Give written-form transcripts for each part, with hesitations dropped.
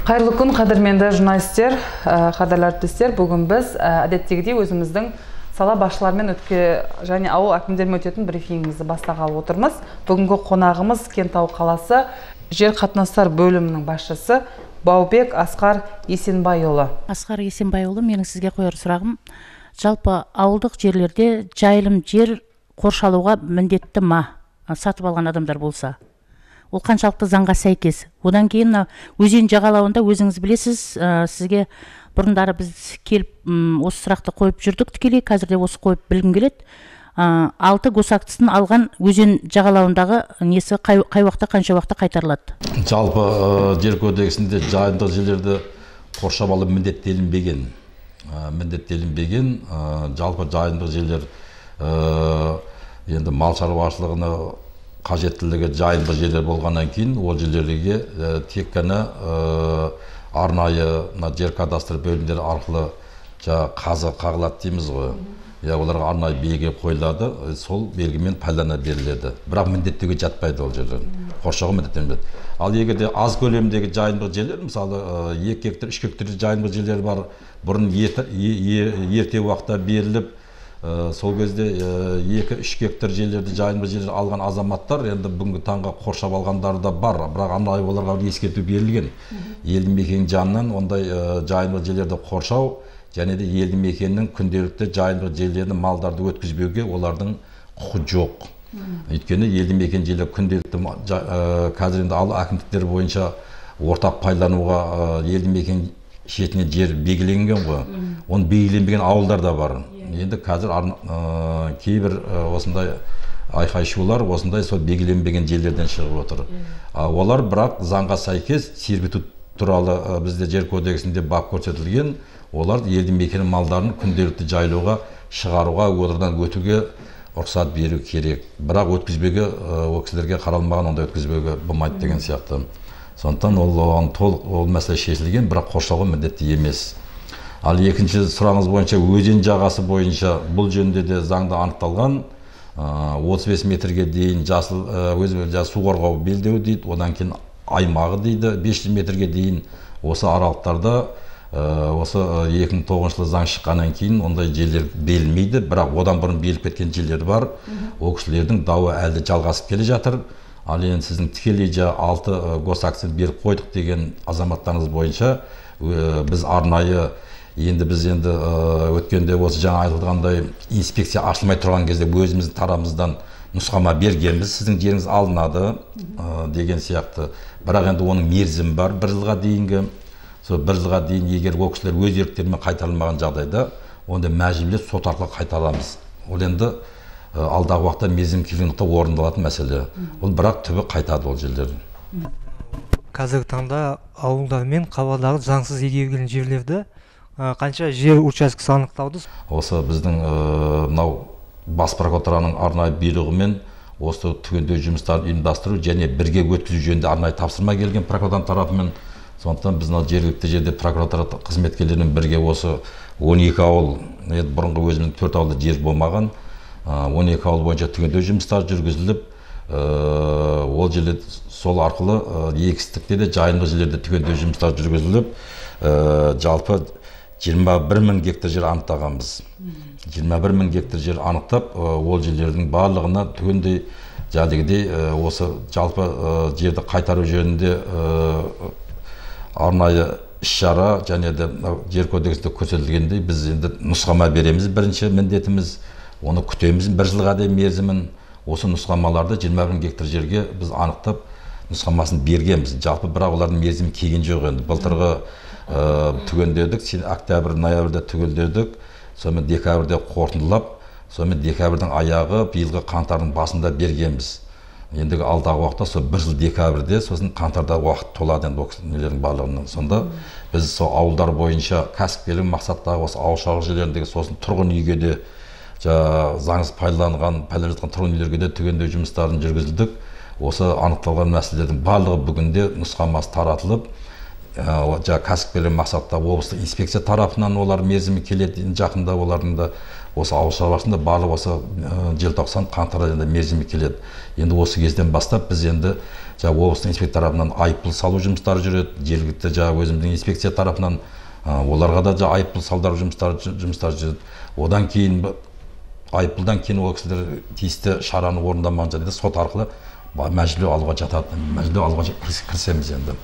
Қайырлы күн, қадірменді журналистер, қадірлі әріптестер. Бүгін біз әдеттегідей өзіміздің сала басшыларымен және ауыл әкімдерімен өтетін брифингімізді бастағалы отырмыз. Бүгінгі қонағымыз Кентау қаласы жер қатынастар бөлімінің басшысы Баубек Асқар Есенбайұлы. Асқар Есенбайұлы, менің сізге қояр сұрағым, жалпы ауылдық жерлерде жайылым жер қоршалуға міндетті ма? Сатып алған адамдар болса, ол қаншалықты заңға сәйкес? Одан кейін өзен жағалауында өзіңіз білесіз, сізге бұрындары біз келіп осы сұрақты қойып жүрдік тікелей, қазірде осы қойып білгім келеді. 6 госактысын алған өзен жағалауындағы несі қай уақытта, қанша уақытта қайтарылады? Жалпы жер кодексінде жайылымдық жерлерді қоршап алу міндеттелінбеген. Жалпы жайылымдық жерлер енді мал шаруашылығына қажеттілігі жайылымдық жерлер болғаннан кейін ол жерлерге тек қана арнайы жер кадастр бөлімдері арқылы қазы қағылады дейміз ғой. Оларға арнайы белгі қойылады, сол белгімен пайдалана беріледі. Бірақ міндеттеуге жатпайды ол жерлер. Қоршауға міндеттелмейді. Ал егерде аз көлемдегі жайылымдық жерлер, мысалы 2 гектар, 3 гектар жайылымдық жерлер бар, бұрын ерте уақытта беріліп, сол кезде 2-3 гектар жерлерді жайылымдық жерлер алған азаматтар енді бүгінгі таңға қоршап алғандары да бар, бірақ арнайы оларға ескерту берілген. Елді мекен жанынан ондай жайылымдық жерлерді қоршау және де елді мекеннің күнделікті жайылымдық жерлерді малдарды өткізбеуге олардың құқы жоқ. Өйткені елді мекен жерлер күнделікті қазір енді ауыл әкімдіктері бойынша ортақ пайдалануға елді мекен шетіне жер белгіленген ғой. Оны белгіленбеген ауылдар да бар. Енді қазір кейбір осындай айқай-шулар осындай сол белгіленбеген жерлерден шығып отыр. Олар бірақ заңға сәйкес сервитут туралы бізде жер кодексінде бап көрсетілген. Олар елді мекен малдарын күнделікті жайлауға, шығаруға, олардан өтуге рұқсат беру керек. Бірақ өткізбеуге, ол кісілерге қаралмаған, онда өткізбеуге болмайды деген сияқты. Сондықтан ол мәселе шешілген, бірақ қоршауға міндетті емес. Ал екінші сұрағыңыз бойынша өзен жағасы бойынша бұл жөнінде де заңда анықталған 35 метрге дейін су қорғау белдеуі дейді, одан кейін аймағы дейді, 500 метрге дейін осы аралықтарда осы 2009 жылы заң шыққаннан кейін ондай жерлер берілмейді, бірақ одан бұрын беріліп кеткен жерлер бар. Ол кісілердің дауы әлі жалғасып келе жатыр. Ал енді сіздің тікелей 6 госактысын беріп қойдық деген азаматтарыңыз бойынша біз арнайы біз өткенде осы жаңа айтылғандай инспекция ашылмай тұрған кезде өзіміздің тарамыздан нұсқама бергенбіз, сіздің жеріңіз алынады деген сияқты. Бірақ енді оның мерзімі бар, 1 жылға дейінгі. Сол 1 жылға дейін егер ол кісілер өз еріктерімен қайтарылмаған жағдайда, онда мәжбүрлеп сот арқылы қайтарамыз. Ол енді алдағы уақытта мерзім келгендікте орындалатын мәселе. Ол бірақ түбі қайтады ол жерлер. Қазіргі таңда ауылдар мен қалалардағы заңсыз игерілген жерлерді қанша жер учаскесі анықталды? Осы біздің мынау бас прокуратураның арнайы бұйрығымен осы түгендеу жұмыстарын ұйымдастыру және бірге өткізу жөнінде арнайы тапсырма келген прокуратура тарапымен. Сондықтан біз жергілікті жерде прокуратура қызметкерлерімен бірге осы 12 ауыл, бұрынғы өзіміздің 4 ауылда жер болмаған, 12 ауыл бойынша түгендеу жұмыстары жүргізіліп, ол жерде сол арқылы егістікте де жайылымдық жерлерде түгендеу жұмыстары жүргізіліп, жалпы 21.000 гектар жер анықтағанбыз. 21.000 гектар жер анықтап, ол жерлердің барлығына түгендей осы жалпы жерді қайтару жөнінде арнайы іс-шара және де жер кодексінде көрсетілгендей біз енді нұсқама береміз. Бірінші міндетіміз оны күтеміз 1 жылға дейін мерзімін. Осы нұсқамаларды 21 гектар жерге біз анықтап нұсқамасын бергенбіз. Жалпы бірақ олардың мерзімі келген жоқ енді. Былтырғы түгендедік, октябрь, ноябрьде түгендедік, сонымен декабрьде қорытындылап, сонымен декабрьдің аяғы биылғы қаңтардың басында бергенбіз. Ендігі алдағы уақытта сол 1 жыл декабрьде, сосын қаңтарда уақыт толады енді нелердің барлығынан. Сонда біз сол ауылдар бойынша кәсіпкерлік мақсаттағы осы ауыл шаруашылық жерлеріндегі сосын тұрғын үйге де заңсыз пайдаланып жатқан тұрғын үйлерге де түгендеу жұмыстарын жүргізілдік. Осы анықталған мәселелердің барлығы бүгінде нұсқамасы таратылып, кәсіпкерлік мақсатта облыстық инспекция тарапынан олар мерзімі келеді, жақында олардың да осы ауыл шаруашылығында барлық осы желтоқсан қаңтар айында мерзімі келеді. Енді осы кезден бастап біз енді облыстың инспектор тарапынан айыппұл салу жұмыстары жүреді, жергілікті өзіміздің инспекция тарапынан оларға да айыппұл салдыру жұмыстары жүреді. Одан кейін айыппұлдан кейін ол кісілер тиісті шараны орындамаған жағдайда сот арқылы мәжбүрлеу алуға жатады, мәжбүрлеу алуға кірісеміз енді.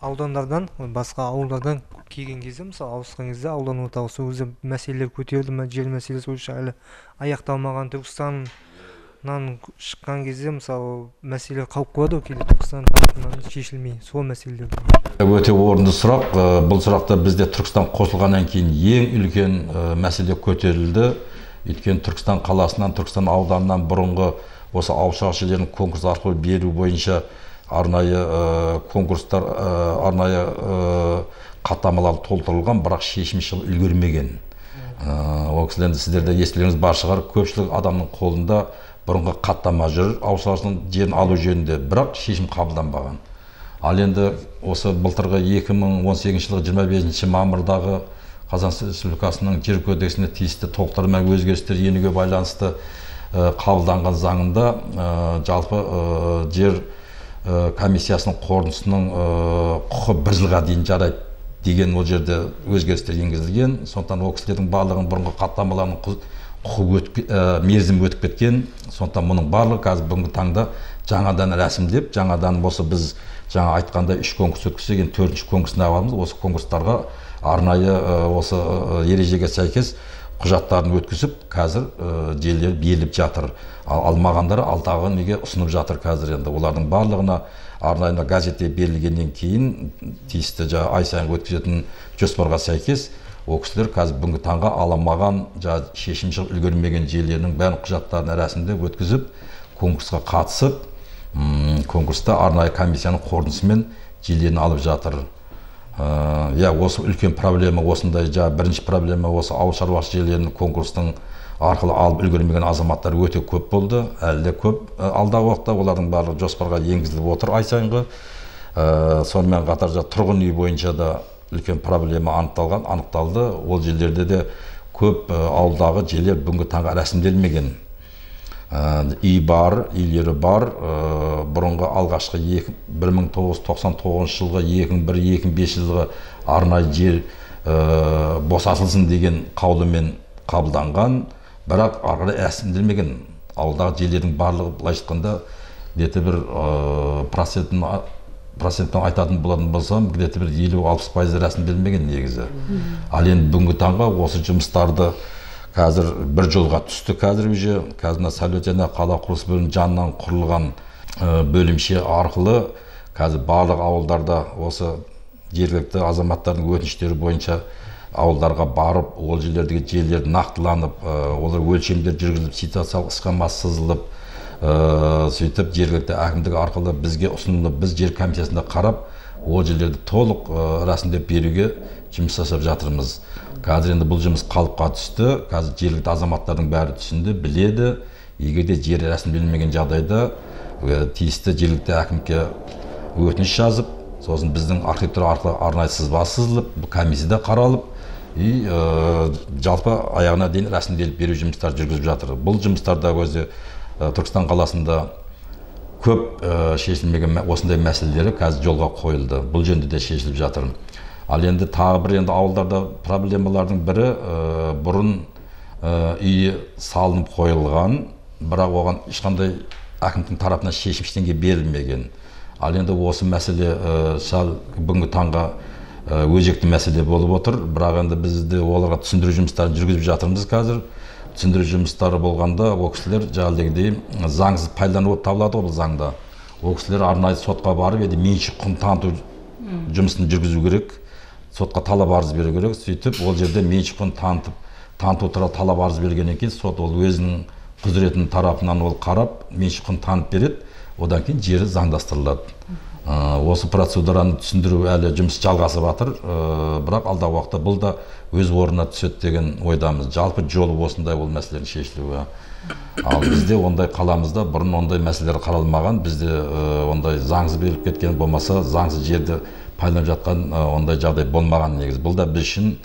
Аудандардан, басқа ауылдардан келген кезде, мысалы ауысқан кезде аудан орталығы сол кезде мәселелер көтерілді ме, жер мәселесі бойынша әлі аяқталмаған, Түркістаннан шыққан кезде мысалы мәселе қалып қояды, кейде Түркістан тарапынан шешілмей, сол мәселелер. Өте орынды сұрақ. Бұл сұрақта бізде Түркістан қосылғаннан кейін ең үлкен мәселе көтерілді. Өйткені Түркістан қаласынан, Түркістан ауданынан бұрынғы осы ауыл шаруашылық жерлерін конкурс арқылы беру бойынша арнайы конкурстар, арнайы хаттамалар толтырылған, бірақ шешім шығып үлгермеген. Ол кісілерді сіздерде естілеріңіз бар шығар, көпшілік адамның қолында бұрынғы хаттама жүр, ауыл шаруашылық жерін алу жөнінде, бірақ шешім қабылданбаған. Ал енді осы былтырғы 2018 жылғы 25 мамырдағы Қазақстан Республикасының жер кодексіне тиісті толықтырма өзгерістер енуге байланысты қабылданған заңында жалпы жер комиссиясының қорытындысының құқы 1 жылға дейін жарайды деген ол жерде өзгерістер енгізілген. Сондықтан ол кісілердің барлығын бұрынғы хаттамаларының мерзімі өтіп кеткен. Сондықтан мұның барлығы қазір бүгінгі таңда жаңадан рәсімдеп, жаңадан осы біз жаңа айтқанда 3 конкурс өткізген 4-ші конкурсына аламыз. Осы конкурстарға арнайы осы ережеге сәйкес құжаттарын өткізіп, қазір жерлер беріліп жатыр. Алмағандары алдағы неге ұсынып жатыр қазір енді. Олардың барлығына арнайы газетте берілгеннен кейін тиісті ай сайын өткізетін жоспарға сәйкес ол кісілер қазір бүгінгі таңға аламаған, шешім шығып үлгермеген жерлерінің бәрін құжаттарын рәсімдеп өткізіп, конкурсқа қатысып, конкурста арнайы комиссияның қорытындысымен жерлерін алып жатыр. Осы үлкен проблема осындай, бірінші проблема осы ауыл шаруашылық жерлерінің конкурстың арқылы алып үлгермеген азаматтар өте көп болды, әлі де көп. Алдағы уақытта олардың барлығы жоспарға енгізіліп отыр ай сайынғы. Сонымен қатар тұрғын үй бойынша да үлкен проблема анықталды. Ол жерлерде де көп ауылдағы жерлер бүгінгі таңға рәсімделмеген. Үй бар, үйлері бар. Бұрынғы алғашқы 1999 жылғы 2001-2005 жылғы арнайы жер босатылсын деген қаулымен қабылданған, бірақ арқылы рәсімделмеген. Ауылдағы жерлердің барлығы былай айтқанда где-то бір процентпен айтатын болатын болсам, где-то бір 50-60% рәсімделмеген негізі. Ал енді бүгінгі таңға осы жұмыстарды қазір бір жолға түсті. Қазір сәулет және қала құрылыс бөлімінің жанынан құрылған бөлімше арқылы қазір барлық ауылдарда осы жергілікті азаматтардың өтініштері бойынша ауылдарға барып, ол жерлердегі жерлер нақтыланып, олар өлшемдер жүргізіліп, ситуациялық схемасы сызылып, сөйтіп жергілікті әкімдік арқылы бізге ұсынылып, біз жер комиссиясында қарап, ол жерлерді толық рәсімдеп беруге жұмыс жасап жатырмыз. Қазір енді бұл жұмыс қалыпқа түсті. Қазір жергілікті азаматтардың бәрі түсінді, біледі. Егер де жер рәсімделмеген жағдайда тиісті жергілікті әкімге өтініш жазып, сосын біздің архитектура арқылы арнайы сызба сызылып, комиссияда қаралып, жалпы аяғына дейін рәсімделіп беру жұмыстар жүргізіп жатыр. Бұл жұмыстарда өзі Түркістан қаласында көп шешілмеген осындай мәселелері қазір жолға қойылды. Бұл жөнінде де шешіліп жатыр. Ал енді тағы бір ауылдарда проблемалардың бірі бұрын үйі салынып қойылған, бірақ оған ешқандай әкімдіктің тарапынан шешім ештеңе берілмеген. Ал енді осы мәселе бүгінгі таңға өзекті мәселе болып отыр, бірақ енді біз де оларға түсіндіру жұмыстарын жүргізіп жатырмыз қазір. Түсіндіру жұмыстары болғанда ол кісілер жаңағыдегідей заңсыз пайдаланып табылады ол заңда. Ол кісілер арнайы сотқа барып, меншік құн таныту жұмысын жүргізу керек. Сотқа талап арыз беру керек. Сөйтіп ол жерде меншік құн таныту туралы талап арыз бергеннен кейін сот ол өзінің құзыретінің тарапынан ол қарап, меншік құн танып береді. Одан кейін жері заңдастырылады. Осы процедураны түсіндіру әлі жұмыс жалғасып жатыр, бірақ алдағы уақытта бұл да өз орнына түседі деген ойдамыз. Жалпы жолы осындай ол мәселелердің шешілуі. Ал бізде ондай қаламызда бұрын ондай мәселелер қаралмаған, бізде ондай заңсыз беріліп кеткен болмаса, заңсыз жерді пайдаланып жатқан ондай жағдай болмаған негізі. Бұл да біз үшін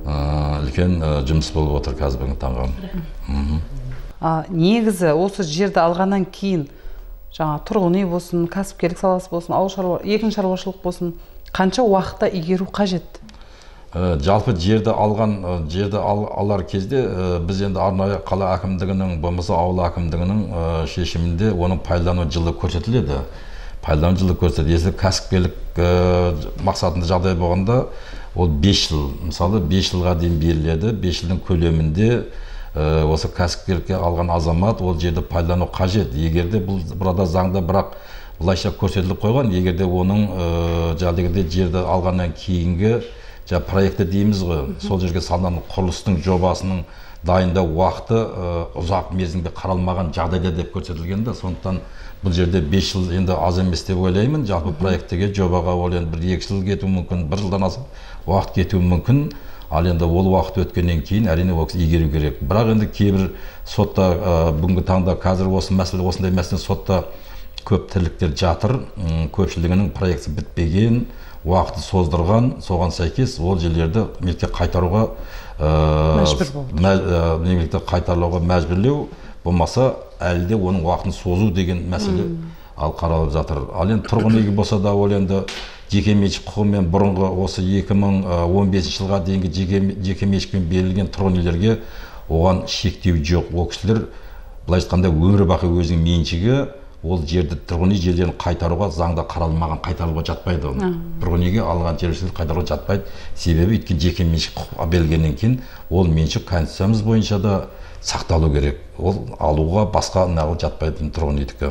үлкен жұмыс болып отыр қазіргі таңға. Негізі осы жерді алғаннан кейін жаңа тұрғын үй болсын, кәсіпкерлік саласы болсын, егін шаруашылық болсын, қанша уақытта игеру қажет? Жалпы жерді алар кезде біз енді арнайы қала әкімдігінің болмаса ауыл әкімдігінің шешімінде оның пайдалану жылы көрсетіледі. Пайдалану жылы көрсетіледі. Если кәсіпкерлік мақсатында жағдай болғанда ол 5 жыл, мысалы 5 жылға дейін беріледі. 5 жылдың көлемінде осы кәсіпкерлікке алған азамат ол жерді пайдалану қажет. Егерде бұл burada заңда бірақ былайша көрсетіліп қойған, егерде оның жерді алғаннан кейінгі проекті дейміз ғой, сол жерге салынған құрылыстың жобасының дайындау уақыты ұзақ мерзімге қаралмаған жағдайда деп көрсетілгенде, сондықтан бұл жерде 5 жыл енді аз емес деп ойлаймын. Жалпы проекттегі жобаға ол енді 1-2 жыл кетуі мүмкін, 1 жылдан асып уақыт кетуі мүмкін. Ал енді ол уақыт өткеннен кейін әрине ол игеру керек. Бірақ енді кейбір сотта бүгінгі таңда қазір осындай мәселе сотта көп тірліктер жатыр. Көпшілігінің проекті бітпеген, уақыты создырған, соған сәйкес ол жерлерді мемлекетке қайтаруға мәжбүрлеу болмаса әлде оның уақытын созу деген мәселе ал қаралып жатыр. Ал енді тұрғын үйге болса да ол енді жеке меншік құқығымен бұрынғы осы 2015 жылға дейінгі жеке меншікпен берілген тұрғын үйлерге оған шектеу жоқ. Ол кісілер былай айтқанда өмір бақи өзінің меншігі, ол жерді тұрғын үй жерлерін қайтаруға заңда қаралмаған қайтаруға жатпайды. Тұрғын үйге алған жерлерді қайтаруға жатпайды. Себебі өйткені жеке меншік құқық берілгеннен кейін ол меншік конституциямыз бойынша да сақталу керек. Ол алуға басқа неғыл жатпайтын тұрғын үйдікі.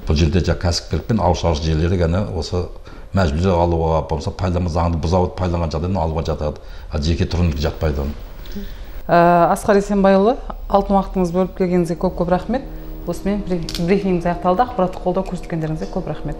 Бұл жерде кәсіпкерлік пен ауыл шаруашылық жерлері ғана осы мәжбүрлі алуға, болмаса пайдаланған заңды бұза пайдаланған жағдайдан алуға жатады. Жеке тұрғын үйге жатпайды. Асқар Есенбайұлы, алтын уақытыңыз бөліп келгеніңізге көп рахмет. Осымен брифингіміз аяқталды. Ақпараттық қолдау көрсеткендеріңізге көп рахмет.